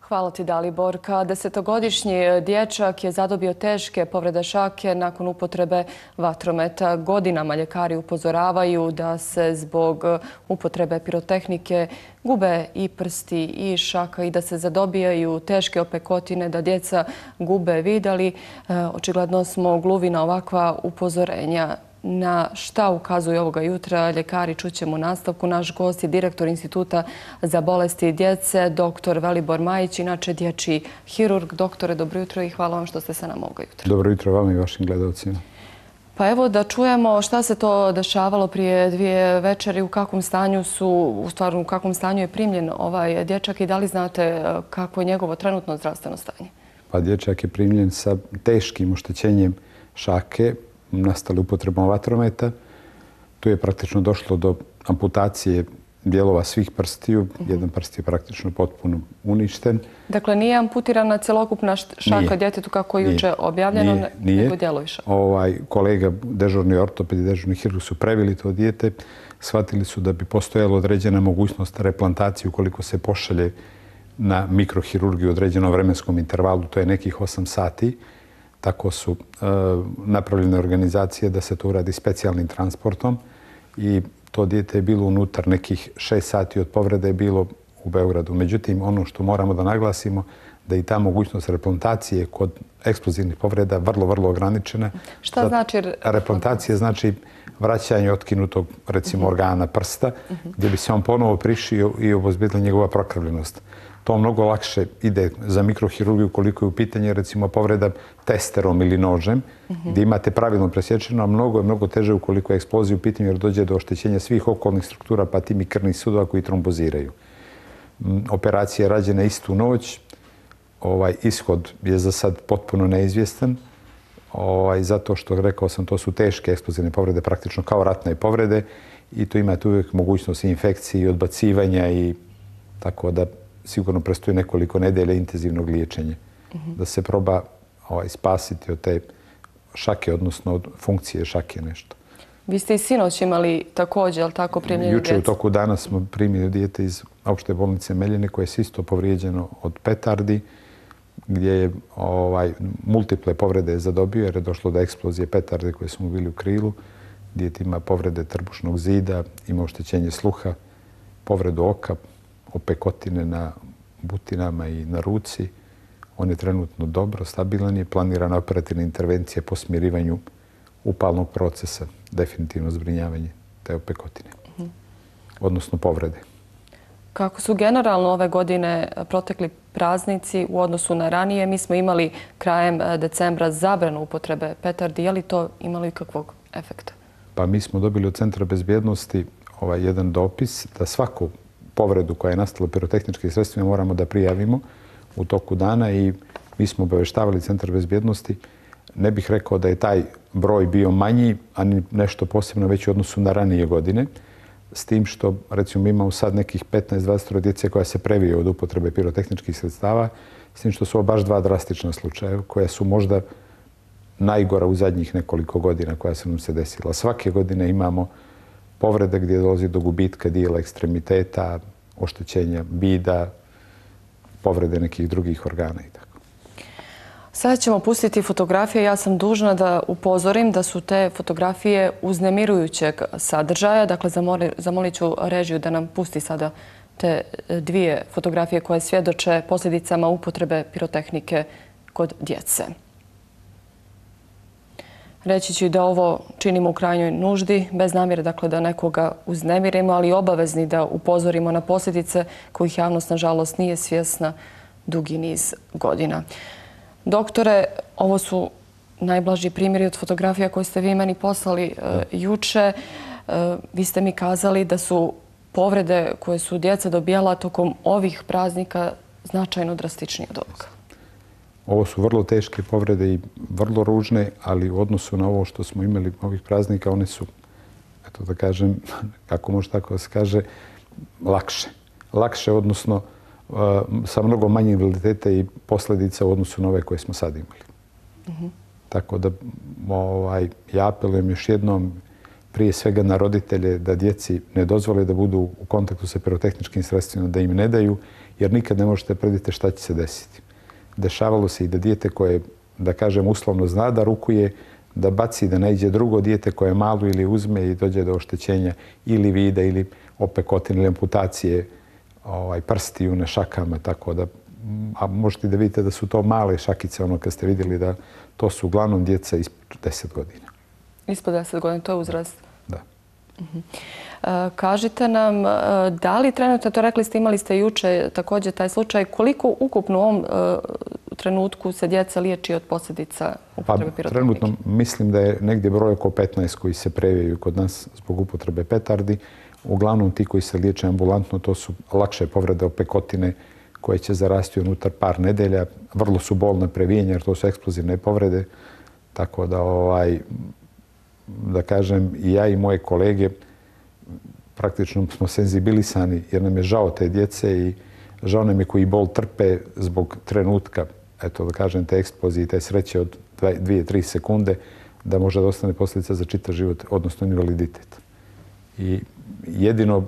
Hvala ti, Daliborka. Desetogodišnji dječak je zadobio teške povrede šake nakon upotrebe vatrometa. Godinama ljekari upozoravaju da se zbog upotrebe pirotehnike gube i prsti i šaka i da se zadobijaju teške opekotine, da djeca gube vid, ali očigledno smo gluvi na ovakva upozorenja. Na šta ukazuju ovoga jutra ljekari čućemo u nastavku. Naš gost je direktor Instituta za bolesti djece, dr. Velibor Majić, inače dječji hirurg. Doktore, dobro jutro i hvala vam što ste sa nama ovoga jutra. Dobro jutro vama i vašim gledalcima. Pa evo da čujemo šta se to dešavalo prije 2 večeri, u kakvom stanju je primljen ovaj dječak i da li znate kako je njegovo trenutno zdravstveno stanje? Pa dječak je primljen sa teškim oštećenjem šake, nastale upotrebom vatrometa. Tu je praktično došlo do amputacije dijelova svih prstiju. Jedan prst je praktično potpuno uništen. Dakle, nije amputirana celokupna šaka djetetu kako je juče objavljeno, nego dijelovi šaka. Kolega, dežurni ortoped i dežurni hirurg su previli to dijete. Shvatili su da bi postojala određena mogućnost replantacije ukoliko se pošalje na mikrohirurgiju u određenom vremenskom intervalu, to je nekih 8 sati. Tako su napravljene organizacije da se to uradi specijalnim transportom i to dijete je bilo unutar nekih 6 sati od povrede je bilo u Beogradu. Međutim, ono što moramo da naglasimo da i ta mogućnost replantacije kod eksplozivnih povreda vrlo, vrlo ograničena. Šta znači replantacija? Znači vraćanje otkinutog, recimo, organa prsta, gdje bi se on ponovo prišio i obezbedila njegova prokrvljenost. To mnogo lakše ide za mikrohirurgiju koliko je u pitanju, recimo, povreda testerom ili nožem, gdje imate pravilno presječeno, a mnogo je mnogo teže ukoliko je eksplozija u pitanju jer dođe do oštećenja svih okolnih struktura, pa tim i krvnih sudova koji tromboziraju. Operacija je rađena istu noć. Ishod je za sad potpuno neizvjestan, zato što, rekao sam, to su teške eksplozivne povrede, praktično kao ratne povrede i tu imate uvijek mogućnost infekcije i odbacivanja i tako da sigurno predstoji nekoliko nedelja intenzivnog liječenja da se proba spasiti od te šake, odnosno od funkcije šake nešto. Vi ste i sinoć imali također, ali tako, primljeni djece? Juče u toku dana smo primili dijete iz opšte bolnice Meljine koje je isto povrijeđeno od petardi, gdje je multiple povrede zadobio jer je došlo do eksplozije petarde koje su mu bili u krilu. Dijete ima povrede trbušnog zida, ima oštećenje sluha, povredu oka, opekotine na butinama i na ruci. On je trenutno dobro, stabilan je, planirana operativna intervencija po smirivanju upalnog procesa, definitivno zbrinjavanje te opekotine, odnosno povrede. Kako su generalno ove godine protekli praznici u odnosu na ranije? Mi smo imali krajem decembra zabranu upotrebe petardi. Je li to imalo ikakvog efekta? Pa mi smo dobili od Centra bezbjednosti jedan dopis da svaku povredu koja je nastala pirotehničkim sredstvima moramo da prijavimo u toku dana i mi smo obaveštavali Centar bezbjednosti. Ne bih rekao da je taj broj bio manji, a ni nešto posebno već u odnosu na ranije godine. S tim što, recimo, imamo sad nekih 15-20 djece koja se previje od upotrebe pirotehničkih sredstava, s tim što su ovo baš 2 drastična slučaja koja su možda najgora u zadnjih nekoliko godina koja su nam se desila. Svake godine imamo povrede gdje dolazi do gubitka dijela ekstremiteta, oštećenja vida, povrede nekih drugih organa i tako. Sada ćemo pustiti fotografije. Ja sam dužna da upozorim da su te fotografije uznemirujućeg sadržaja. Dakle, zamolit ću režiju da nam pusti sada te 2 fotografije koje svjedoče posljedicama upotrebe pirotehnike kod djece. Reći ću da ovo činimo u krajnjoj nuždi, bez namjere dakle, da nekoga uznemirimo, ali obavezni da upozorimo na posljedice kojih javnost, nažalost, nije svjesna dugi niz godina. Doktore, ovo su najblaži primjeri od fotografija koje ste vi meni poslali juče. Vi ste mi kazali da su povrede koje su djeca dobijala tokom ovih praznika značajno drastičnije od ovoga. Ovo su vrlo teške povrede i vrlo ružne, ali u odnosu na ovo što smo imali ovih praznika, one su, eto da kažem, kako može tako da se kaže, lakše. Lakše, odnosno sa mnogo manje invaliditeta i posljedica u odnosu na ove koje smo sad imali. Tako da ja apelujem još jednom prije svega na roditelje da djeci ne dozvole da budu u kontaktu sa pirotehničkim sredstvima, da im ne daju jer nikad ne možete predvidjeti šta će se desiti. Dešavalo se i da dijete koje, da kažem, uslovno zna da rukuje, da baci, da naiđe drugo dijete koje malo ili uzme i dođe do oštećenja ili vida ili opekotine ili amputacije prstiju na šakama, tako da, a možete da vidite da su to male šakice, ono kad ste vidjeli da to su uglavnom djeca ispod 10 godina. Ispod 10 godina, to je uzrast? Da. Kažite nam, da li trenutno, to rekli ste, imali ste juče također taj slučaj, koliko ukupno u ovom trenutku se djeca liječi od posljedica upotrebe pirotehnike? Trenutno mislim da je negdje broj oko 15 koji se previjaju kod nas zbog upotrebe petardi. Uglavnom ti koji se liječe ambulantno, to su lakše povrede opekotine koje će zarasti unutar par nedelja. Vrlo su bolne previjenja jer to su eksplozivne povrede. Tako da, da kažem, i ja i moje kolege praktično smo senzibilisani jer nam je žao te djece i žao nam je koji bol trpe zbog trenutka, eto da kažem, te eksplozije, te sreće od 2-3 sekunde da može da ostane posljedica za čitav život, odnosno invaliditet. I jedino,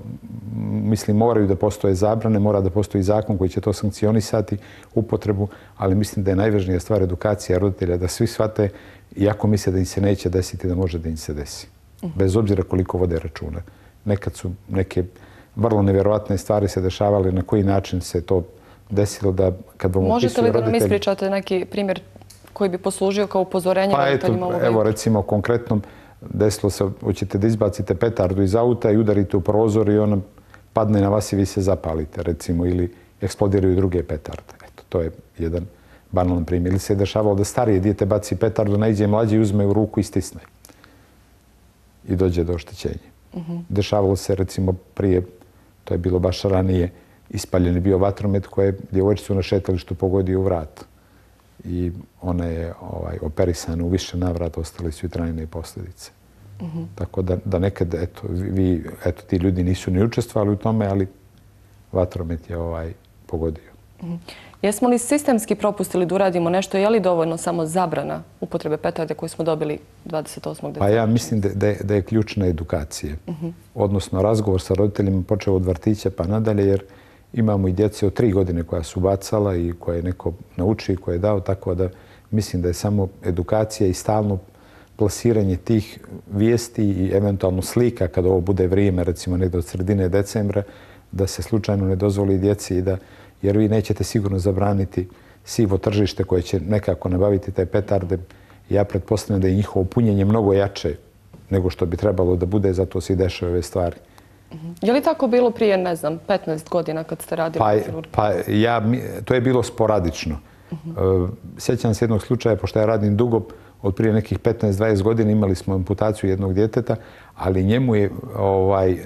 mislim, moraju da postoje zabrane, mora da postoji zakon koji će to sankcionisati, upotrebu, ali mislim da je najvažnija stvar edukacija roditelja, da svi shvate, iako misle da im se neće desiti, da može da im se desi. Bez obzira koliko vode računa. Nekad su neke vrlo nevjerovatne stvari se dešavale, na koji način se to desilo da kad vam opisuju roditelji... Možete li da nam ispričate neki primjer koji bi poslužio kao upozorenje roditeljima ovoga? Evo recimo konkretno desilo se, hoćete da izbacite petardu iz auta i udarite u prozor i ona padne na vas i vi se zapalite recimo ili eksplodiraju druge petarde. Eto, to je jedan banalan primjer. Ili se je dešavalo da starije dijete baci petardu, naiđe mlađi i uzme u ruku i stisne. I dođe do oštećenja. Dešavalo se recimo prije, to je bilo baš ranije, ispaljen je bio vatromet koje je djevojčicu na šetalištu pogodio u vrat. I ona je operisana u više navrata, ostale su i trajne posljedice. Tako da nekad, eto, ti ljudi nisu ni učestvovali u tome, ali vatromet je pogodio. Jesmo li sistemski propustili da uradimo nešto? Je li dovoljno samo zabrana upotrebe petarde koju smo dobili 28. decembra? Pa ja mislim da je ključna edukacija. Odnosno razgovor sa roditeljima počeo od vrtića pa nadalje, jer imamo i djece od 3 godine koja su bacala i koje je neko naučio i koje je dao, tako da mislim da je samo edukacija i stalno plasiranje tih vijesti i eventualno slika kada ovo bude vrijeme, recimo negdje od sredine decembra, da se slučajno ne dozvoli djeci jer vi nećete sigurno zabraniti sivo tržište koje će nekako nabaviti te petarde. Ja pretpostavljam da je njihovo punjenje mnogo jače nego što bi trebalo da bude, zato se i dešaju ove stvari. Je li tako bilo prije, ne znam, 15 godina kad ste radili u kirurgiji? To je bilo sporadično. Sjećam se jednog slučaja, pošto ja radim dugo, od prije nekih 15-20 godina imali smo amputaciju jednog djeteta, ali njemu je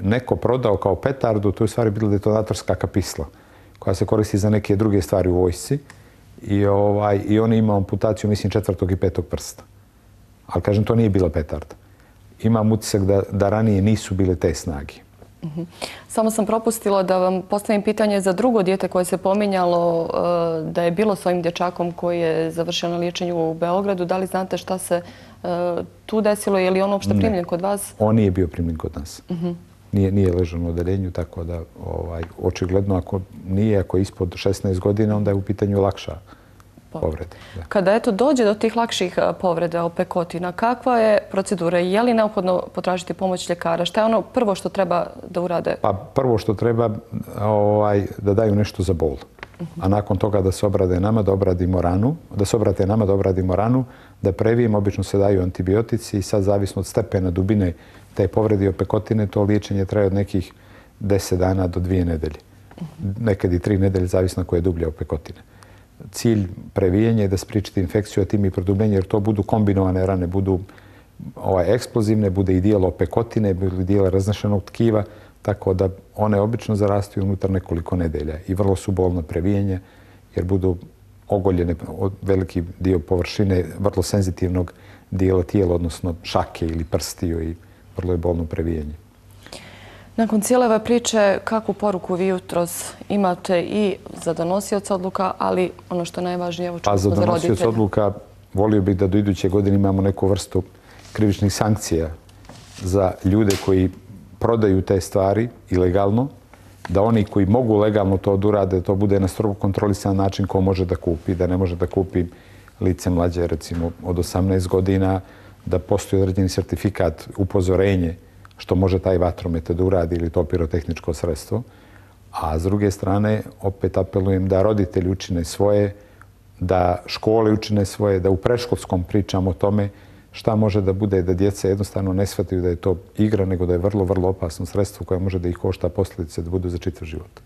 neko prodao kao petardu, to je u stvari bila detonatorska kapisla, koja se koristi za neke druge stvari u vojsci. I on je imao amputaciju, mislim, 4. i 5. prsta. Ali, kažem, to nije bila petarda. Imam utisak da ranije nisu bile te snage. Samo sam propustila da vam postavim pitanje za drugo dijete koje se pominjalo da je bilo s ovim dječakom koji je završio na liječenju u Beogradu. Da li znate šta se tu desilo? Je li on uopšte primljen kod vas? On nije bio primljen kod nas. Nije ležao u odeljenju, tako da očigledno ako je ispod 16 godina, onda je u pitanju lakša povreda. Kada dođe do tih lakših povreda opekotina, kakva je procedura? Je li neophodno potražiti pomoć ljekara? Šta je ono prvo što treba da urade? Pa prvo što treba da daju nešto za bol. A nakon toga da se obrade nama, da obradimo ranu, da previjemo, obično se daju antibiotici i sad zavisno od stepena dubine te povrede i opekotine, to liječenje traje od nekih 10 dana do 2 nedelje. Nekad i 3 nedelje, zavisno koje je dublje opekotine. Cilj previjenja je da spriječite infekciju, a tim i produbljenje, jer to budu kombinovane rane, budu eksplozivne, bude i dijelo opekotine, bude i dijelo raznašenog tkiva, tako da one obično zarastaju unutar nekoliko nedelja i vrlo su bolna previjenja, jer budu ogoljene veliki dio površine vrlo senzitivnog dijela tijela, odnosno šake ili prstiju i vrlo je bolno previjenje. Nakon cijele ove priče, kakvu poruku vi jutros imate i za donosioca odluka, ali ono što je najvažnije, evo čuli smo za roditelja? Za donosioca odluka volio bih da do iduće godine imamo neku vrstu krivičnih sankcija za ljude koji prodaju te stvari ilegalno da oni koji mogu legalno to da urade, da to bude na strogo kontrolisan način ko može da kupi, da ne može da kupi lice mlađe, recimo od 18 godina, da postoji određeni sertifikat, upozorenje što može taj vatromet da uradi ili to pirotehničko sredstvo. A s druge strane, opet apelujem da roditelji učine svoje, da škole učine svoje, da u predškolskom pričamo o tome šta može da bude, da djeca jednostavno ne shvataju da je to igra, nego da je vrlo, vrlo opasno sredstvo koje može da ih košta posljedice da budu za čitav život.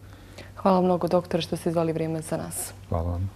Hvala mnogo, doktore, što ste izvali vrijeme za nas. Hvala vam.